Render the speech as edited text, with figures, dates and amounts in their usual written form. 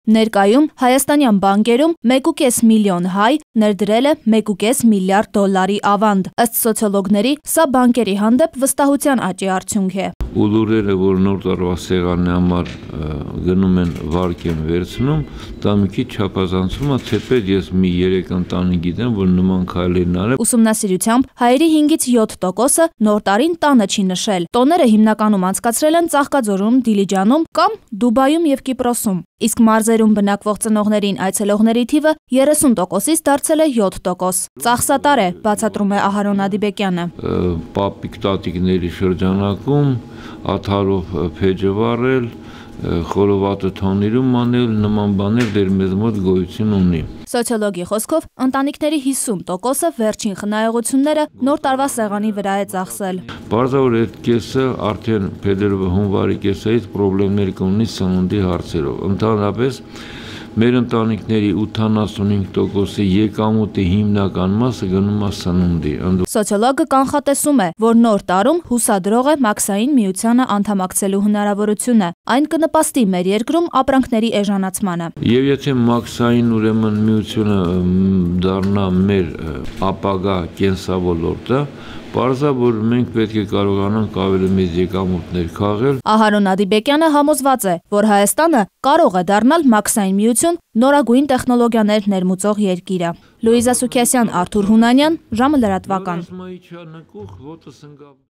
Ներկայում հայաստանյան բանկերում 1,5 միլիոն հայ ներդրել է 1,5 միլիարդ դոլարի ավանդ։ Ըստ սոցիոլոգների, սա բանկերի հանդեպ վստահության աճի արդյունք է։ Ու լուրերը, որ նոր տարվա սեղանի համար գնում են վարկ են վերցնում, դա մի քիչ չափազանցում է, թեպետ ես մի 3 ընտանիք գիտեմ, որ նման քայլերն արել։ Ուսումնասիրությամբ հայերի 5-ից 7%-ը նոր տարին տանը չի նշել։ Տոները հիմնականում անցկացրել են Ծաղկաձորում, Դիլիջանում կամ Դուբայում եւ Կիպրոսում։ Իսկ մարզերում բնակվող ծնողներին այցելողների թիվը 30%-ից դարձել է 7%։ Ծախսատար է, բացատրում է Ահարոն Ադիբեկյանը։ Պապիկ տատիկների շրջանակում աթարով փեջը վառել, խորովատը թոնիրում անել, նման բաներ դեր մեզ մոտ գոյություն ունի։ Սոցիոլոգի խոսքով ընտանիքների 50%-ը վերջին խնայողությունները նոր տարվա սեղանի վրա է ծախսել։ Բարձր այդ կեսը արդեն փետրվարի հունվարի կեսից խնդիրներ կունի սննդի հարցերով։ Ընդհանրապես մեր ընտանիքների 85%-ի եկամուտի հիմնական մասը գնում է սննդի։ Սոցիոլոգը կանխատեսում է, որ նոր տարում հուսադրող է մաքսային միությանը անդամակցելու հնարավորությունը։ Այն կնպաստի մեր երկրում ապրանքների էժանացմանը։ Եվ եթե մաքսային ուրեմն միությունը դառնա մեր ապագա կենսավորորդը, պարզա, որ մենք պետք է կարողանանք ավելի մեծ եկամուտներ քաղել։ Ահարոն Ադիբեկյանը համոզված է, որ Հայաստանը կարող է դառնալ մաքսային միություն նորագույն տեխնոլոգիաներ ներմուծող երկիրը։ Լուիզա Սուքիասյան, Արթուր Հունանյան, ժամը լրատվական։